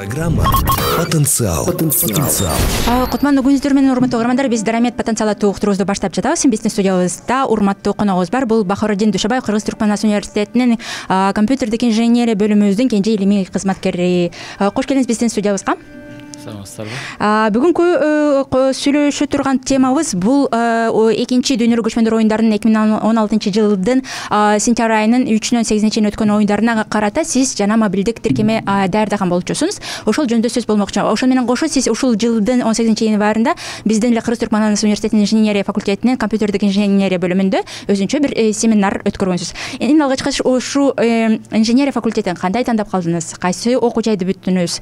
Программа «Потенциал». Кутмандуу күнүңүздөр менен урматтуу угармандар, биз Дарамет потенциал аттуу уктуруубузду баштап жатабыз. Биздин студиябызда урматтуу коногубуз бар. Бул Бахороддин Душабаев, Кыргыз Түркмөн университетинин компьютердик инженерия бөлүмүбүздүн кенже илимий кызматкери. Кош келиңиз биздин студиябызга. Саламатсыздарбы? Бүгүнкү сүйлөшө турган темабыз бул экинчи дүйнөлүк көчмөндөр оюндарынын 2016-жылдын сентябрь айынын 3-нөн 8-ине чейин өткөн оюндарына карата сиз жана мобилдик тиркеме даярдаган болчусуңуз. Ошол жөнүндө сөз болмокчу. Ошол менен кошо сиз ушул жылдын 18-январында биздин эле Кыргыз Түркмөн университетинин инженерия факультетинин компьютердик инженерия бөлүмүндө өзүнчө бир семинар өткөргөнсүз. Эң алгачкы ушу инженерия факультетин кандай тандап калдыңыз? Кайсы окуу жайды бүттүңүз?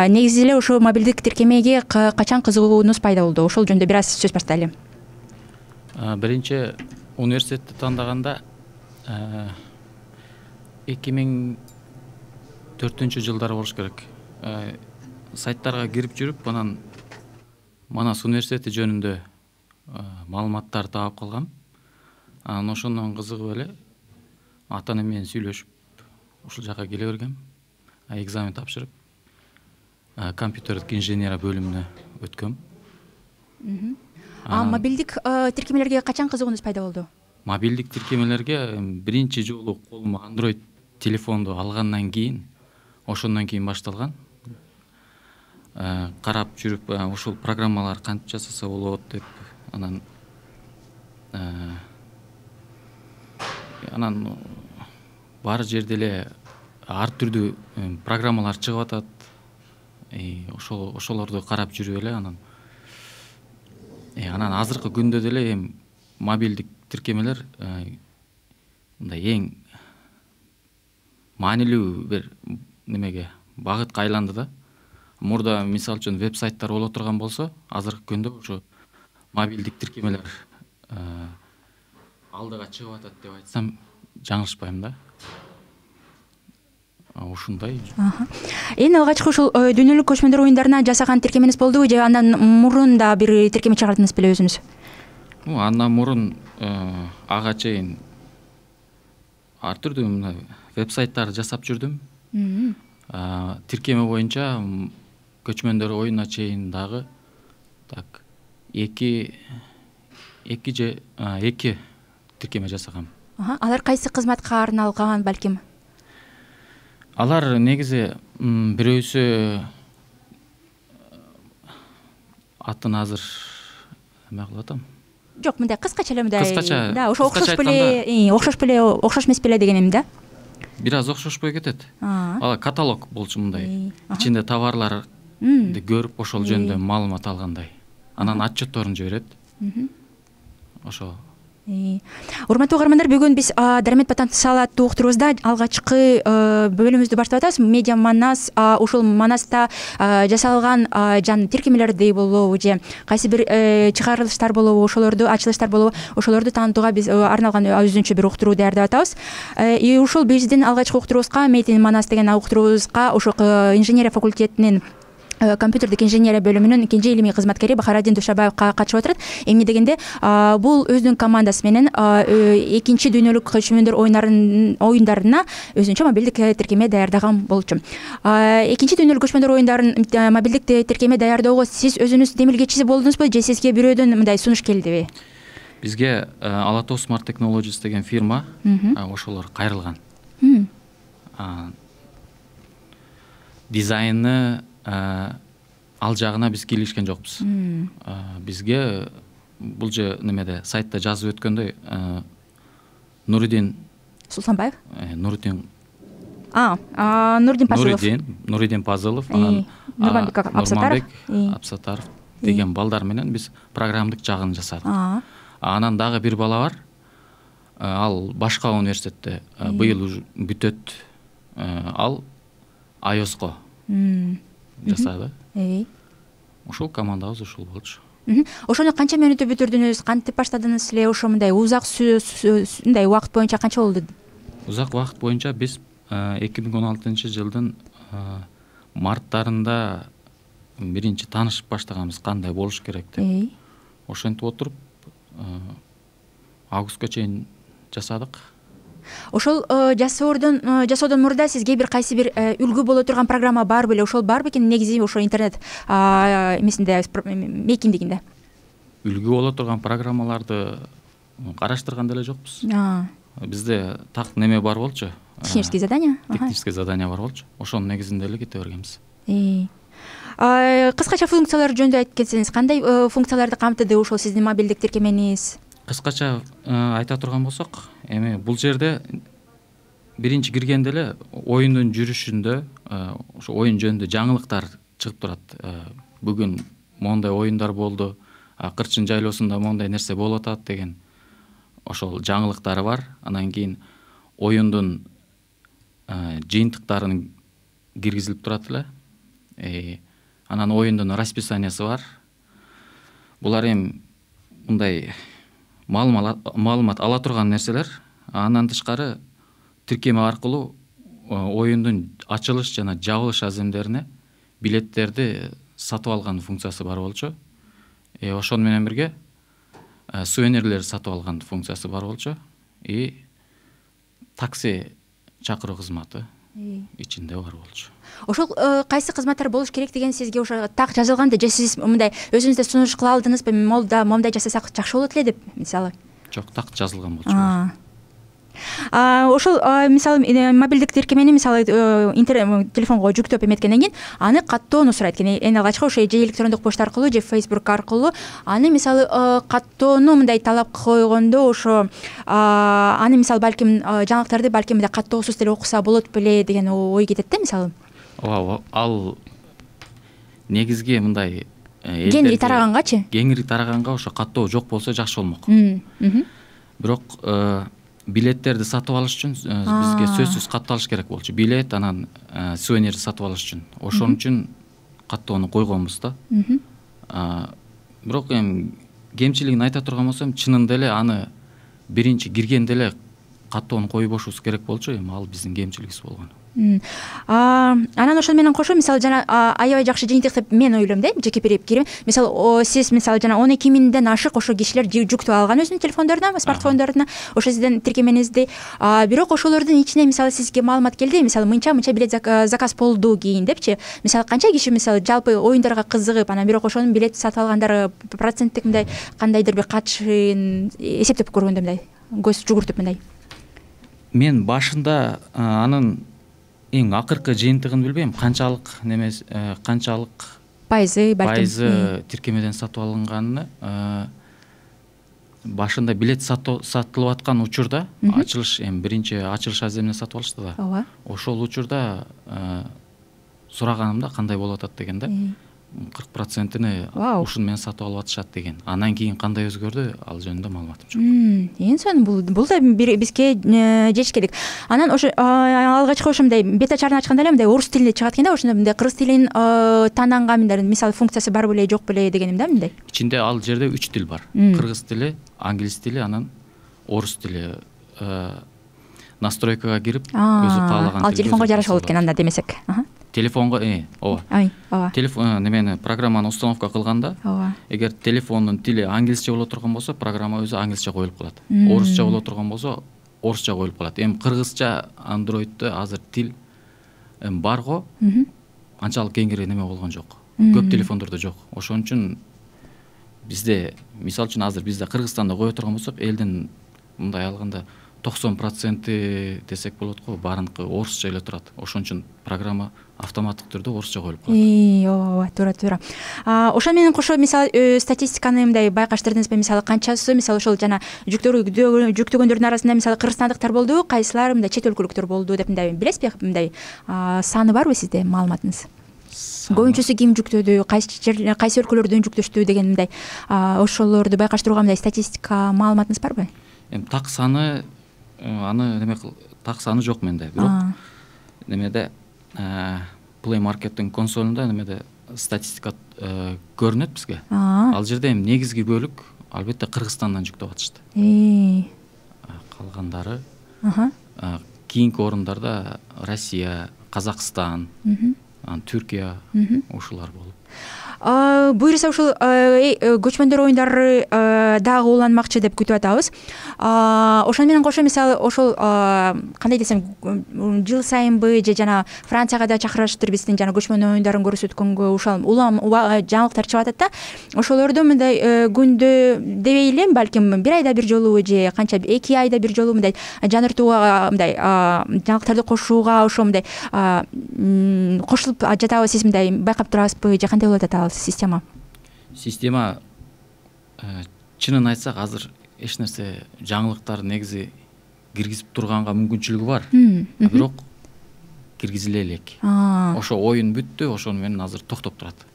Негизи эле ошо мобилдик тиркемеге качан кызыгуунуз пайда болду? Ошол жөнүндө бир аз сөз баштайлы. Биринчи университетти тандаганда 2004-жылдары болуш керек. Сайттарга кирип жүрүп, анан Манас университети жөнүндө маалыматтарды таап калгам. Анан ошондон кызыгып эле ата-энем менен сүйлөшүп, ушул жака келе бергем. Экзамен тапшырып, компьютердик инженерия бөлүмүнө өткөм. Мобилдик тиркемелерге качан кызыгуунуз пайда болду? Мобилдик тиркемелерге биринчи жолу колума Android телефонду алгандан кийин, ошондон кийин башталган. Карап жүрүп, ушул программалар кантип жасаса болот деп, анан бар жерде эле ар түрдүү программалар чыгып атат. Ошолорду карап жүрүп эле анан азыркы күндө деле мобилдик тиркемелер мындай эң маанилүү бир немеге багытка айланды да. Мурда мисалы үчүн веб-сайттар боло турган болсо, азыркы күндө ошо мобилдик тиркемелер алдыга чыгып атат деп айтсам жаңылышпайм да. Ушундай. Эң алгачкы ушул дүйнөлүк көчмөндөр оюндарына жасаган тиркемеңиз болдубу же андан мурун да бир тиркеме чыгардыңыз беле өзүңүз? Андан мурун ага чейин ар түрдүү мына веб-сайттарды жасап жүрдүм. Тиркеме боюнча көчмөндөр оюнуна чейин дагы так эки тиркеме жасагам. Алар кайсы кызматка арналган балким? Алар негизи бирөөсү атын азыр эме кылып атам. Жок, мындай кыскача эле мындай. Да, ошо окшош эмес беле дегеним да. Бир аз окшошпой кетет. Ал каталог болчу мындай. Ичинде товарларды көрүп, ошол жөнүндө маалымат алгандай. Анан отчетторун жиберет. Ошо. Урматтуу угармандар, бүгүн биз Дарамет потенциал аттуу уктуруубузда алгачкы бөлүмүбүздү баштап атабыз. Медиа Манас, ушул Манаста жасалган жан тиркемелерди болобу же кайсы бир чыгарылыштар болобу, ачылыштар болобу, ошолорду таанытууга биз арналган өзүнчө бир уктуруу даярдап атабыз. Ушул биздин алгачкы уктуруубузга, Медиа Манас деген уктуруубузга ошо инженерия факультетинин компьютердик инженерия бөлүмүнүн кенже илимий кызматкери Бахороддин Душабаев катышып отурат. Эмне дегенде, бул өзүнүн командасы менен экинчи дүйнөлүк көчмөндөр оюндарына өзүнчө мобилдик тиркеме даярдаган болчу. Экинчи дүйнөлүк көчмөндөр оюндарын мобилдик тиркеме даярдоого сиз өзүнүз демилгечиси болдуңузбу же сизге бирөөдөн мындай сунуш келдиби? Бизге Alto Smart Technologies деген фирма ошолор кайрылган. Дизайны ал жагына биз кийлишкен жокпуз. Бизге бул же немеде сайтта жазып өткөндөй Нуридин Султанбаев? Нуридин Пазылов. Нуридин Пазылов, анан Нурманбек Абсатаров деген балдар менен биз программдык жагын жасадык. Анан дагы бир бала бар. Ал башка университетте быйыл бүтөт. Ал iOS-ко жасады. Ошол командабыз ушул болчу. Ошону канча мүнөттө бүтүрдүңүз? Кантип баштадыңыз эле? Ошо мындай узак мындай убакыт боюнча канча болду? Узак убакыт боюнча биз 2016-жылдын марттарында биринчи таанышып баштаганбыз, кандай болуш керек деп. Ошентип отуруп августка чейин жасадык. Ошол жасоодон мурда сизге бир кайсы бир үлгү боло турган программа бар беле? Ошол бар бекен негизи ошо интернет эмесинде мейкиндигинде? Үлгү боло турган программаларды караштырган деле жокпуз. Бизде так неме бар болчу. Технические задания. Технические задания бар болчу. Ошонун негизинде эле кете бергенбиз. Кыскача функциялар жөнүндө айтып кетсеңиз, кандай функцияларды камтыды ошол сиздин мобилдик тиркемениз? Кыскача айта турган болсок, эми бул жерде биринчи киргенде эле оюндун жүрүшүндө ошо оюн жөнүндө жаңылыктар чыгып турат. Бүгүн моундай оюндар болду, Кырчын жайлоосунда моундай нерсе болуп атат деген ошол жаңылыктары бар. Анан кийин оюндун жыйынтыктарын киргизилип турат эле. Анан оюндун расписаниясы бар. Булар эми мындай маалымат ала турган нерселер. Андан тышкары тиркеме аркылуу оюндун ачылыш жана жабылыш аземдерине билеттерди сатып алган функциясы бар болчу. Ошону менен бирге сувенирлерди сатып алган функциясы бар болчу. Такси чакыруу кызматы ичинде бар болчу. Ошол кайсы кызматтар болуш керек деген сизге ошо так жазылганды же сиз мындай өзүңүз да сунуш кыла алдыңызбы? Момундай жасасак жакшы болот эле деп, мисалы? Жок, так жазылган болчу. Ошол мисалы мобилдик тиркемени мисалы телефонго жүктөп эметкенден кийин аны каттоону сурайт экен. Эң алгачкы ошо же электрондук почта аркылуу же Facebook аркылуу аны мисалы каттоону мындай талап койгондо ошо аны мисалы балким жаңылыктарды балким мындай каттоосуз деле окуса болот беле деген ой кетет да мисалы. Ооба, ал негизги мындай кеңири тараганчы? Кеңири тараганга ошо каттоо жок болсо жакшы болмок. Бирок билеттерди сатып алыш үчүн бизге сөзсүз катталыш керек болчу. Билет анан сувенирди сатып алыш үчүн. Ошон үчүн каттоону койгонбуз да. Бирок эми кемчилигин айта турган болсом, чынында эле аны биринчи киргенде эле каттоону койбошубуз керек болчу. Эми ал биздин кемчилигибиз болгон. Анан ошону менен кошо мисалы жана аябай жакшы жыйынтык деп мен ойлойм да, жеке пикирим. Мисалы сиз мисалы жана 12 миңден ашык ошо кишилер жүктөп алган өзүнүн телефондоруна, смартфондоруна ошо сиздин тиркеменизди. Бирок ошолордун ичинен мисалы сизге маалымат келди, мисалы мынча билет заказ болду кийин депчи. Мисалы канча киши мисалы жалпы оюндарга кызыгып, анан бирок ошонун билет сатып алгандары проценттик мындай кандайдыр бир катышын эсептеп көргөндө мындай көз жүгүртүп мындай. Мен башында анын эң акыркы жыйынтыгын билбейм, канчалык пайызы тиркемеден сатып алынганын. Башында билет сатылып аткан учурда ачылыш, эми биринчи ачылыш аземине сатып алышты да. Ооба. Ошол учурда сураганымда кандай болуп атат деген да. 40%-ини ушуну менен сатып алып атышат деген. Андан кийин кандай өзгөрдү, ал жөнүндө маалыматым жок. Эң сонун бул да бизге жетишкелик. Анан ошо алгачкы ошондой бета чарын ачканда эле мындай орус тилинде чыгат экен да, ошондо мындай кыргыз тилин таананган мындай мисалы функциясы бар беле жок беле дегеним да мындай. Ичинде ал жерде 3 тил бар. Кыргыз тили, англис тили, анан орус тили. Настройкага кирип өзү каалаган. Ал телефонго жараша болот экен анда демесек. Телефонго ооба. Телефон немени программаны установка кылганда, эгер телефондун тили англисче боло турган болсо, программа өзү англисче коюлуп калат. Орусча боло турган болсо, орусча коюлуп калат. Эми кыргызча Android'де азыр тил барго, анчалык кеңири неме болгон жок. Көп телефондордо жок. Ошон үчүн бизде, мисалы үчүн азыр бизде Кыргызстанда кое турган болсок, элдин мындай алганда 90% десек болот го, баарыныкы орусча эле турат. Ошон үчүн программа автоматтык түрдө орусча коюлуп калат. Ооба, туура. Ошон менен кошо мисалы статистиканы мындай байкаштырдыңызбы? Мисалы канчасы мисалы ошол жана жүктөгөндөрдүн арасында мисалы кыргызстандыктар болду, кайсылар мындай чет өлкөлүктөр болду деп мындай билесизби? Мындай саны барбы сизде маалыматыңыз? Көбүнчөсү ким жүктөдү, кайсы өлкөлөрдөн жүктөштү деген мындай ошолорду байкаштырууга мындай статистика маалыматыңыз барбы? Эми так саны так саны жок менде. Бирок немеде Play Market'тин консолунда немеде статистика көрүнөт бизге. Ал жерде эми негизги бөлүк албетте Кыргызстандан жүктөп атышты. Калгандары кийинки орундарда Россия, Казакстан, Түркия ушулар болуп. буюрса ушул көчмөндөр оюндары дагы уланмакчы деп күтүп атабыз. Ошону менен кошо мисалы ошол кандай десем жыл сайынбы же жана Францияга да чакырышыптыр биздин жана көчмөн оюндарын көрсөткөнгө ушул улам жаңылыктар чыгып атат да. Ошолорду мындай күндө дебей эле балким бир айда бир жолу же канча 2 айда бир жолу мындай жаңыртууга мындай жаңылыктарды кошууга ошо мындай кошулуп жатабы, сиз мындай байкап турасызбы же кандай болуп атат ал система? Чынын айтсак азыр эч нерсе жаңылыктар негизи киргизип турганга мүмкүнчүлүгү бар. Бирок киргизиле элек. Ошо оюн бүттү, ошону менен азыр токтоп турат.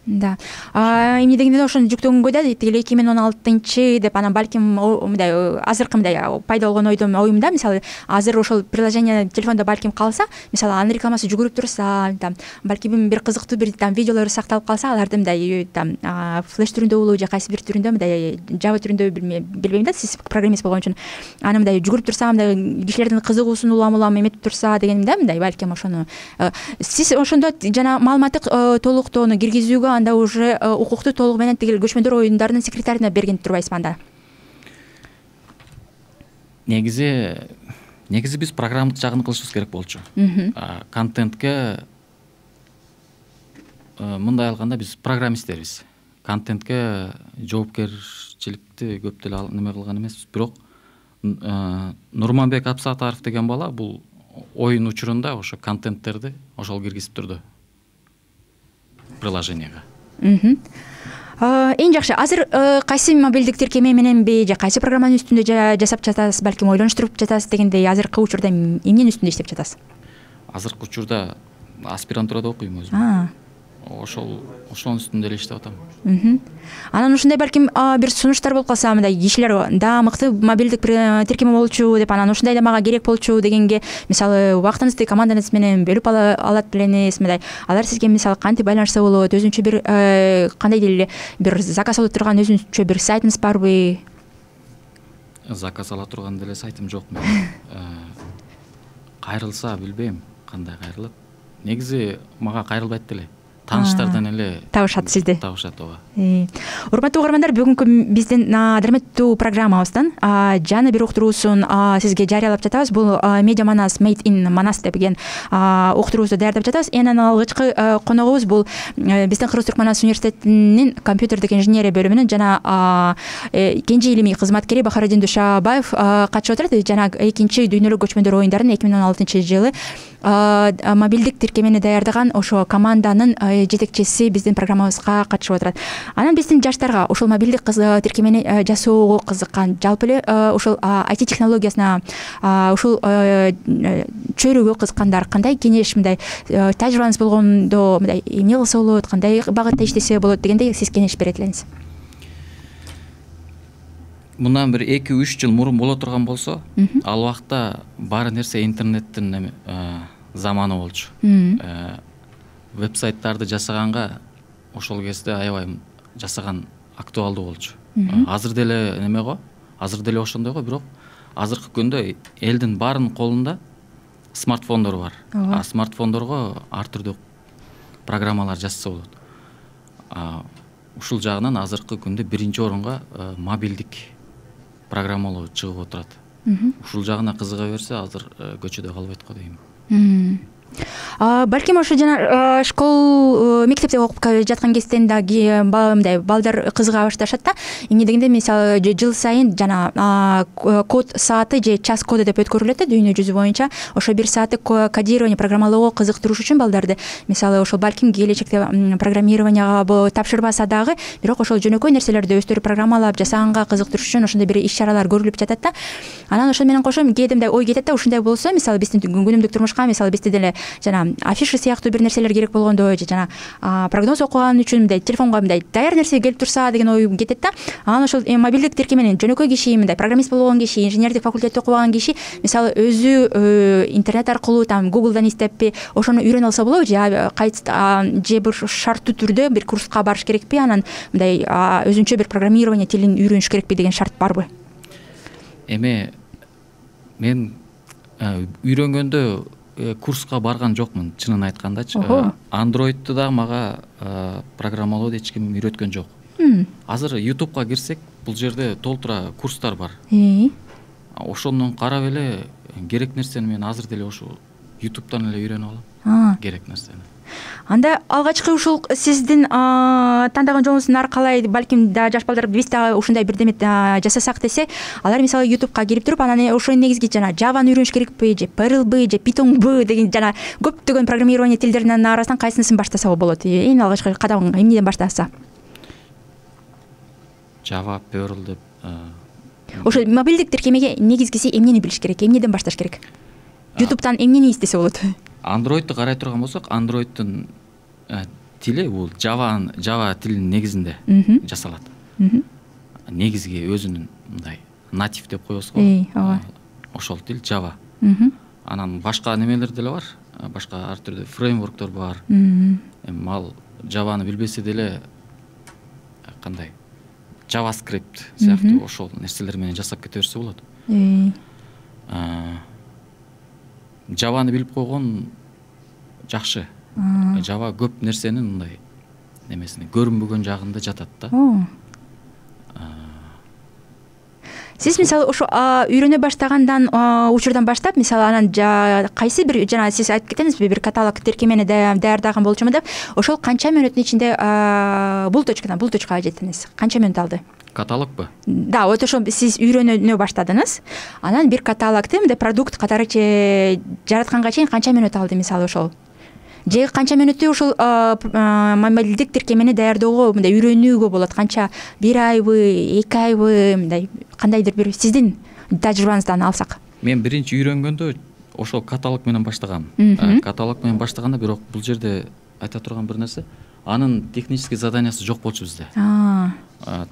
Да. Эмне дегенде ошону жүктөгөнгө да тиги 2016 деп анан балким мындай азыркы мындай пайда болгон оюмда мисалы азыр ошол приложение телефондо балким калса, мисалы анын рекламасы жүгүрүп турса, балким бир кызыктуу бир видеолор сакталып калса, аларды мындай флеш түрүндө болобу же кайсы бир түрүндө мындай Java түрүндө билбейм да, сиз программист болгон үчүн аны мындай жүгүрүп турса, мындай кишилердин кызыгуусун улам эметип турса дегенде мындай балким ошону сиз ошондо жана маалыматтык толуктоону киргизүүгө анда уже укукту толугу менен тигил көчмөндөр оюндарынын секретарине берген турбайсызбы анда? Негизи биз программалык жагын кылышыбыз керек болчу. Контентке мындай алганда биз программисттербиз. Контентке жоопкерчиликти көп деле неме кылган эмеспиз. Бирок Нурманбек Абсатаров деген бала бул оюн учурунда ошо контенттерди ошол киргизип турду приложенияга. Эң жакшы. Азыр кайсы мобилдик тиркеме мененби же кайсы программанын үстүндө жасап жатасыз, балким ойлонуштуруп жатасыз дегендей азыркы учурда эмненин үстүндө иштеп жатасыз? Азыркы учурда аспирантурада окуйм өзүм. Ошонун үстүндө эле иштеп атам. Анан ушундай балким бир сунуштар болуп калса, мындай кишилер да мыкты мобилдик тиркеме болчу деп, анан ушундай да мага керек болчу дегенге, мисалы убактыңызды командаңыз менен бөлүп алат белеңиз, мындай алар сизге мисалы кантип байланышса болот, өзүнчө бир кандай деле бир заказ алып турган өзүнчө бир сайтыңыз барбы? Заказ ала турган деле сайтым жок менин. Кайрылса билбейм кандай кайрылат. Негизи мага кайрылбайт деле. Тааныштардан эле табышат сизди. Табышат, ооба. Урматтуу угармандар, бүгүнкү биздин дарметтүү программабыздан жаңы бир уктуруусун сизге жарыялап жатабыз. Бул Media Manas Made in Manas деген уктуруубузду даярдап жатабыз. Энен алгычкы коногубуз бул биздин Кыргыз Түркманас университетинин компьютердик инженерия бөлүмүнүн жана кенже илимий кызматкери Бахараддин Душабаев катышып отурат. Жана экинчи дүйнөлүк көчмөндөр оюндарын 2016 жылы мобилдик тиркемени даярдаган ошо команданын жетекчиси биздин программабызга катышып отурат. Анан биздин жаштарга ушул мобилдик тиркемени жасоого кызыккан, жалпы эле ушул IT технологиясына ушул чөйрөгө кызыккандар кандай кеңеш, мындай тажрыйбаңыз болгондо мындай эмне кылса болот, кандай багытта иштесе болот дегендей сиз кеңеш берет элеңиз? Мындан бир 2-3 жыл мурун боло турган болсо, ал убакта баары нерсе интернеттин заманы болчу. Вебсайттарды жасаганга ошол кезде аябай жасаган актуалдуу болчу. Азыр деле неме го, азыр деле ошондой го, бирок азыркы күндө элдин баарынын колунда смартфондор бар. Смартфондорго ар түрдүү программалар жазса болот. Ушул жагынан азыркы күндө биринчи орунга мобилдик программалоо чыгып отурат. Ушул жагына кызыга берсе, азыр көчөдө калбайт го дейм. Балким ошо жана школ мектепте окуп жаткан кезден дагы мындай балдар кызыга башташат да. Эмне дегенде мисалы жыл сайын жана код сааты же час коду деп өткөрүлөт да дүйнө жүзү боюнча. Ошо бир сааттык кодирование программалоого кызыктырыш үчүн балдарды мисалы ошол балким келечекте программированияга тапшырбаса дагы, бирок ошол жөнөкөй нерселерди өздөрү программалап жасаганга кызыктырыш үчүн ошондой бир иш-чаралар көрүлүп жатат да. Анан ошол менен кошо кээде мындай ой кетет да, ушундай болсо мисалы биздин күнүмдүк турмушка мисалы бизде деле жана афиша сыяктуу бир нерселер керек болгондо же жана прогноз окуган үчүн мындай телефонго мындай даяр нерсе келип турса деген ой кетет да. Анан ошол мобилдик тиркеменин жөнөкөй киши, мындай программист болгон киши, инженердик факультетте окубаган киши мисалы өзү интернет аркылуу Google'дан издеппи ошону үйрөнө алса болобу, же бир шарттуу түрдө бир курска барыш керекпи, анан мындай өзүнчө бир программирование тилин үйрөнүш керекпи деген шарт барбы? Эми мен үйрөнгөндө курска барган жокмун, чынын айткандачы. Ого. Android'ду да мага программалооду эч ким үйрөткөн жок. Азыр YouTube'га кирсек, бул жерде толтура курстар бар. Ошондон карап эле керек нерсени мен азыр деле ошо YouTube'дан эле үйрөнүп алам. Керек нерсени. Анда алгачкы ушул сиздин тандаган жолуңуздун аркалай балким да жаш балдар биз да ушундай бирдеме жасасак десе, алар мисалы YouTube'га кирип туруп, анан ошо негизги жана Java'ны үйрөнүш керекпи, же Perl'бы, же Python'бы деген жана көптөгөн программирование тилдеринин арасынан кайсынысын баштаса болот? Эң алгачкы кадам эмнеден баштаса? Java, Perl деп. Ошо мобилдик тиркемеге негизгиси эмнени билиш керек? Эмнеден башташ керек? YouTube'дан эмнени издесе болот? Android'ду карай турган болсок, Android'дун тили бул Java тилинин негизинде жасалат. Негизги өзүнүн мындай native деп коебуз го. Ошол тил Java. Анан башка немелер деле бар. Башка ар түрдүү фреймворктор бар. Эми ал Java'ны билбесе деле кандай JavaScript сыяктуу ошол нерселер менен жасап кете берсе болот. Java'ны билип койгон жакшы. Java көп нерсенин мындай немесине көрүнбөгөн жагында жатат да. Сиз мисалы ошо үйрөнө баштагандан учурдан баштап, мисалы анан кайсы бир жана сиз айтып кетеңизби, бир каталог тиркемени даярдаган болчумун деп, ошол канча мүнөттүн ичинде бул точкага жеттиңиз? Канча мүнөт алды? Каталогбу? Да, вот ошо сиз үйрөнө баштадыңыз. Анан бир каталогду мындай продукт катары жаратканга чейин канча мүнөт алды мисалы ошол? Же канча мүнөттү ушул мобилдик тиркемени даярдоого мындай үйрөнүүгө болот? Канча, 1 айбы, 2 айбы, мындай кандайдыр бир сиздин тажрыйбаңыздан алсак? Мен биринчи үйрөнгөндө ошол каталог менен баштагам. Каталог менен баштаганда бирок бул жерде айта турган бир нерсе, анын технический заданиясы жок болчу бизде.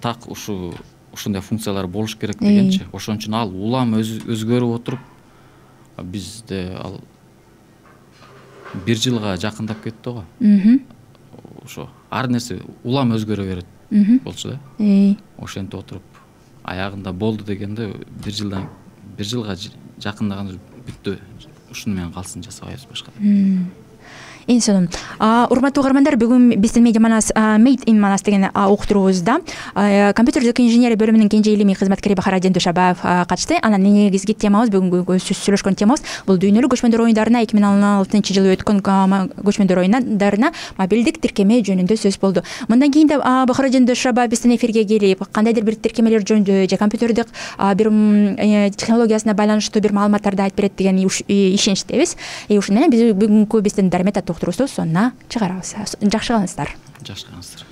Так ушундай функциялар болуш керек дегенчи. Ошон үчүн ал улам өзгөрүп отуруп, бизде ал 1 жылга жакындап кетти го. Ошо ар нерсе улам өзгөрө берет болчу да. Ошентип отуруп аягында болду дегенде 1 жылга жакындаганда бүттү. Ушуну менен калсын, жасабайбыз башка. Эң сонун. Урматтуу угармандар, бүгүн биздин Media Manas Made in Manas деген уктуруубузда компьютердик инженерия бөлүмүнүн кенже илимий кызматкери Бахараддин Душабаев катышты. Анан негизги темабыз, бүгүнкү сүйлөшкөн темабыз бул дүйнөлүк көчмөндөр оюндарына 2016-жылы өткөн көчмөндөр оюндарына мобилдик тиркеме жөнүндө сөз болду. Мындан кийин да Бахараддин Душабаев биздин эфирге келип, кандайдыр бир тиркемелер жөнүндө же компьютердик бир технологиясына байланыштуу бир маалыматтарды айтып берет деген ишеничтебиз. Ушуну менен биз бүгүнкү биздин дармет уктуруубузду сонуна чыгарабыз. Жакшы калыңыздар. Жакшы калыңыздар.